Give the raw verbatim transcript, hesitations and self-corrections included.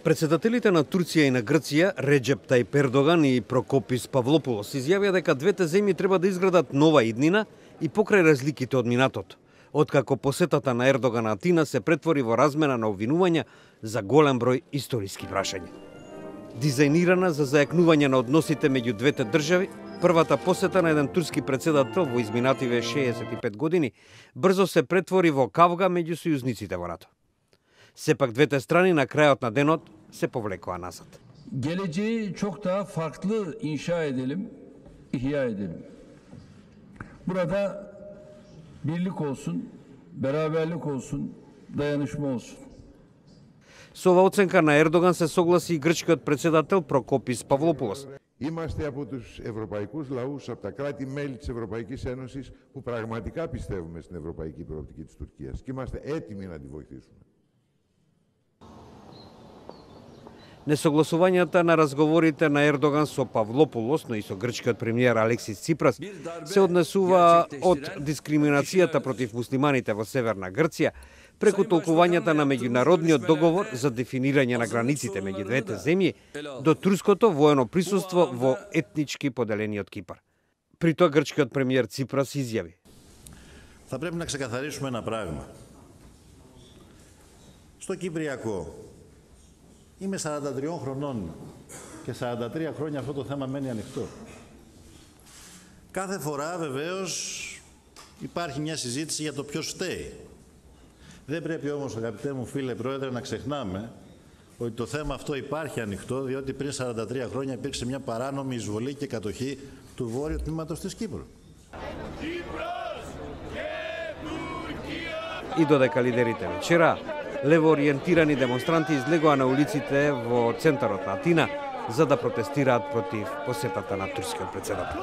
Председателите на Турција и на Грција, Реджеп Тајип Ердоган и Прокопис Павлопулос, изјавија дека двете земји треба да изградат нова иднина и покрај разликите од минатото, откако посетата на Ердоган на Атина се претвори во размена на обвинувања за голем број историски прашања. Дизајнирана за зајакнување на односите меѓу двете држави, првата посета на еден турски председател во изминативе шеесет и пет години брзо се претвори во кавга меѓу сојузниците во НАТО. Сепак двете страни на крајот на денот se povlekova nazad. Geleceği çok daha farklı inşa edelim, ihya edelim. Burada birlik olsun, beraberlik olsun, dayanışma olsun. Со ова оценка на Ердоган се согласи и грчкиот председател Прокопис Павлопулос. Είμαστε από τους ευρωπαϊκούς λαούς, από τα κράτη-μέλη της Ευρωπαϊκής Ένωσης που πραγματικά πιστεύουμε στην ευρωπαϊκή προοπτική της Τουρκίας και είμαστε έτοιμοι να τη βοηθήσουμε. Несогласувањата на разговорите на Ердоган со Павлопулос, но и со грчкиот премиер Алексис Ципрас, се однесува од дискриминацијата против муслиманите во Северна Грција, преку толкувањата на меѓународниот договор за дефинирање на границите меѓу двете земји, до турското воено присуство во етнички поделениот Кипар. При тоа грчкиот премиер Ципрас изјави: Θα πρέπει να ξεκαθαρίσουμε ένα πράγμα. Στο Κυπριακό είμαι σαράντα τριών χρονών και σαράντα τρία χρόνια αυτό το θέμα μένει ανοιχτό. Κάθε φορά βεβαίως υπάρχει μια συζήτηση για το ποιος φταίει. Δεν πρέπει όμως, αγαπητέ μου φίλε Πρόεδρε, να ξεχνάμε ότι το θέμα αυτό υπάρχει ανοιχτό, διότι πριν σαράντα τρία χρόνια υπήρξε μια παράνομη εισβολή και κατοχή του βόρειου τμήματος της Κύπρου. И додека лидерите вечера, левоориентирани демонстранти излегоа на улиците во центарот на Атина за да протестираат против посетата на турскиот председател.